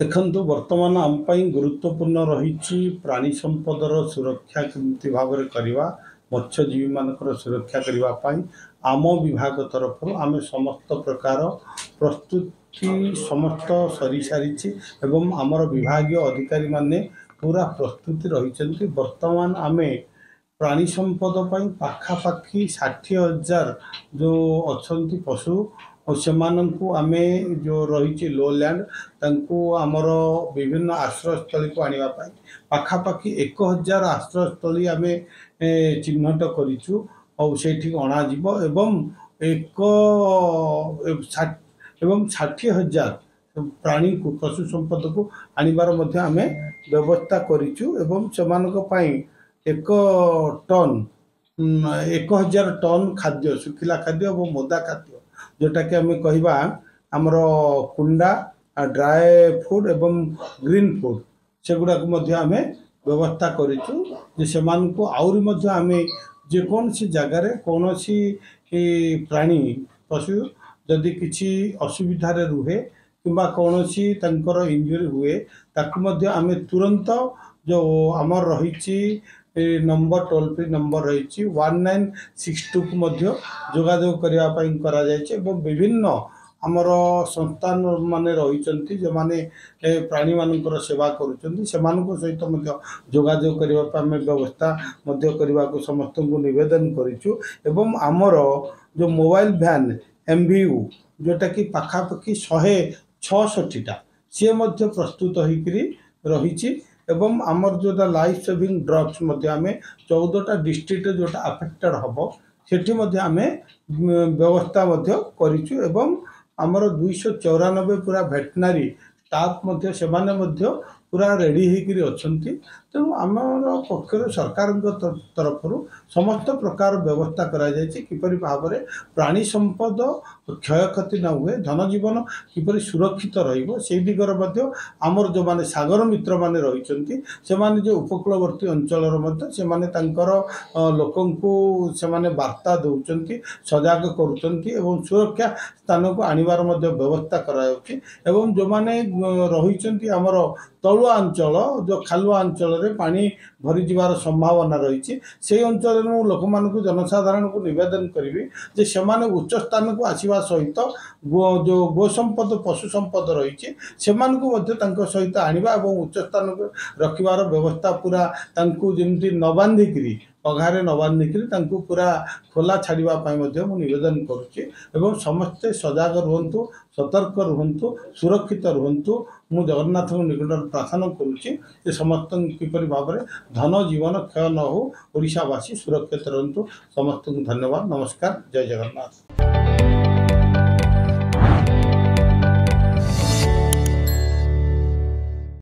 ଦେଖନ୍ତୁ, ବର୍ତ୍ତମାନ ଆମ ପାଇଁ ଗୁରୁତ୍ୱପୂର୍ଣ୍ଣ ରହିଛି ପ୍ରାଣୀ ସମ୍ପଦର ସୁରକ୍ଷା କେମିତି ଭାବରେ କରିବା। ମତ୍ସ୍ୟଜୀବୀମାନଙ୍କର ସୁରକ୍ଷା କରିବା ପାଇଁ ଆମ ବିଭାଗ ତରଫରୁ ଆମେ ସମସ୍ତ ପ୍ରକାର ପ୍ରସ୍ତୁତି ସମସ୍ତ ସରିସାରିଛି ଏବଂ ଆମର ବିଭାଗୀୟ ଅଧିକାରୀମାନେ ପୁରା ପ୍ରସ୍ତୁତି ରହିଛନ୍ତି। ବର୍ତ୍ତମାନ ଆମେ ପ୍ରାଣୀ ସମ୍ପଦ ପାଇଁ ପାଖାପାଖି 60,000 ଯେଉଁ ଅଛନ୍ତି ପଶୁ, ସେମାନଙ୍କୁ ଆମେ ଯେଉଁ ରହିଛି ଲୋ ଲ୍ୟାଣ୍ଡ, ତାଙ୍କୁ ଆମର ବିଭିନ୍ନ ଆଶ୍ରୟସ୍ଥଳୀକୁ ଆଣିବା ପାଇଁ ପାଖାପାଖି 1000 ଆଶ୍ରୟସ୍ଥଳୀ ଆମେ ଚିହ୍ନଟ କରିଛୁ ଆଉ ସେଇଠିକି ଅଣାଯିବ ଏବଂ ଏକ ଏବଂ 60,000 ପ୍ରାଣୀକୁ, ପଶୁ ସମ୍ପଦକୁ ଆଣିବାର ମଧ୍ୟ ଆମେ ବ୍ୟବସ୍ଥା କରିଛୁ ଏବଂ ସେମାନଙ୍କ ପାଇଁ 1 ଟନ୍, 1000 ଟନ୍ ଖାଦ୍ୟ, ଶୁଖିଲା ଖାଦ୍ୟ ଏବଂ ଓଦା ଖାଦ୍ୟ, ଯେଉଁଟାକି ଆମେ କହିବା ଆମର କୁଣ୍ଡା, ଡ୍ରାଏ ଫୁଡ଼୍ ଏବଂ ଗ୍ରୀନ୍ ଫୁଡ଼୍, ସେଗୁଡ଼ାକୁ ମଧ୍ୟ ଆମେ ବ୍ୟବସ୍ଥା କରିଛୁ ଯେ ସେମାନଙ୍କୁ ଆହୁରି ମଧ୍ୟ ଆମେ ଯେକୌଣସି ଜାଗାରେ କୌଣସି ପ୍ରାଣୀ ପଶୁ ଯଦି କିଛି ଅସୁବିଧାରେ ରୁହେ କିମ୍ବା କୌଣସି ତାଙ୍କର ଇଞ୍ଜୁରି ହୁଏ, ତାକୁ ମଧ୍ୟ ଆମେ ତୁରନ୍ତ ଯେଉଁ ଆମର ରହିଛି ନମ୍ବର, ଟୋଲ୍ ଫ୍ରି ନମ୍ବର ରହିଛି 1962କୁ ମଧ୍ୟ ଯୋଗାଯୋଗ କରିବା ପାଇଁ କରାଯାଇଛି ଏବଂ ବିଭିନ୍ନ ଆମର ସଂସ୍ଥାନ ମାନେ ରହିଛନ୍ତି, ଯେଉଁମାନେ ପ୍ରାଣୀମାନଙ୍କର ସେବା କରୁଛନ୍ତି, ସେମାନଙ୍କ ସହିତ ମଧ୍ୟ ଯୋଗାଯୋଗ କରିବା ପାଇଁ ଆମେ ବ୍ୟବସ୍ଥା ମଧ୍ୟ କରିବାକୁ ସମସ୍ତଙ୍କୁ ନିବେଦନ କରିଛୁ। ଏବଂ ଆମର ଯେଉଁ ମୋବାଇଲ ଭ୍ୟାନ୍ MVU, ଯେଉଁଟାକି ପାଖାପାଖି 166ଟା, ସିଏ ମଧ୍ୟ ପ୍ରସ୍ତୁତ ହୋଇକରି ରହିଛି ଏବଂ ଆମର ଯେଉଁଟା ଲାଇଫ୍ ସେଭିଂ ଡ୍ରଗ୍ସ ମଧ୍ୟ ଆମେ 14ଟା ଡିଷ୍ଟ୍ରିକ୍ଟରେ ଯେଉଁଟା ଆଫେକ୍ଟେଡ଼ ହେବ, ସେଠି ମଧ୍ୟ ଆମେ ବ୍ୟବସ୍ଥା ମଧ୍ୟ କରିଛୁ ଏବଂ ଆମର 294 ପୁରା ଭେଟନାରୀ ଷ୍ଟାଫ୍ ମଧ୍ୟ, ସେମାନେ ମଧ୍ୟ ପୁରା ରେଡ଼ି ହେଇକରି ଅଛନ୍ତି। ତେଣୁ ଆମର ପକ୍ଷରୁ, ସରକାରଙ୍କ ତରଫରୁ ସମସ୍ତ ପ୍ରକାର ବ୍ୟବସ୍ଥା କରାଯାଇଛି କିପରି ଭାବରେ ପ୍ରାଣୀ ସମ୍ପଦ କ୍ଷୟକ୍ଷତି ନ ହୁଏ, ଧନଜୀବନ କିପରି ସୁରକ୍ଷିତ ରହିବ, ସେଇ ଦିଗରେ ମଧ୍ୟ ଆମର ଯେଉଁମାନେ ସାଗର ମିତ୍ରମାନେ ରହିଛନ୍ତି, ସେମାନେ ଯେଉଁ ଉପକୂଳବର୍ତ୍ତୀ ଅଞ୍ଚଳର ମଧ୍ୟ ସେମାନେ ତାଙ୍କର ଲୋକଙ୍କୁ ସେମାନେ ବାର୍ତ୍ତା ଦେଉଛନ୍ତି, ସଜାଗ କରୁଛନ୍ତି ଏବଂ ସୁରକ୍ଷା ସ୍ଥାନକୁ ଆଣିବାର ମଧ୍ୟ ବ୍ୟବସ୍ଥା କରାଯାଉଛି। ଏବଂ ଯେଉଁମାନେ ରହିଛନ୍ତି ଆମର ତଳୁଆ ଅଞ୍ଚଳ, ଯେଉଁ ଖାଲୁଆ ଅଞ୍ଚଳରେ ପାଣି ଭରିଯିବାର ସମ୍ଭାବନା ରହିଛି, ସେଇ ଅଞ୍ଚଳରେ ମୁଁ ଲୋକମାନଙ୍କୁ, ଜନସାଧାରଣଙ୍କୁ ନିବେଦନ କରିବି ଯେ ସେମାନେ ଉଚ୍ଚ ସ୍ଥାନକୁ ଆସିବା ସହିତ ଯେଉଁ ଗୋ ସମ୍ପଦ, ପଶୁ ସମ୍ପଦ ରହିଛି, ସେମାନଙ୍କୁ ମଧ୍ୟ ତାଙ୍କ ସହିତ ଆଣିବା ଏବଂ ଉଚ୍ଚ ସ୍ଥାନକୁ ରଖିବାର ବ୍ୟବସ୍ଥା, ପୁରା ତାଙ୍କୁ ଯେମିତି ନ ବାନ୍ଧିକିରି, ପଘାରେ ନ ବାନ୍ଧିକିରି ତାଙ୍କୁ ପୁରା ଖୋଲା ଛାଡ଼ିବା ପାଇଁ ମଧ୍ୟ ମୁଁ ନିବେଦନ କରୁଛି। ଏବଂ ସମସ୍ତେ ସଜାଗ ରୁହନ୍ତୁ, ସତର୍କ ରୁହନ୍ତୁ, ସୁରକ୍ଷିତ ରୁହନ୍ତୁ। ମୁଁ ଜଗନ୍ନାଥଙ୍କ ନିକଟରେ ପ୍ରାର୍ଥନା କରୁଛି ଯେ ସମସ୍ତଙ୍କୁ କିପରି ଭାବରେ ଧନ ଜୀବନ କ୍ଷୟ ନ ହଉ, ଓଡ଼ିଶାବାସୀ ସୁରକ୍ଷିତ ରୁହନ୍ତୁ। ସମସ୍ତଙ୍କୁ ଧନ୍ୟବାଦ, ନମସ୍କାର, ଜୟ ଜଗନ୍ନାଥ।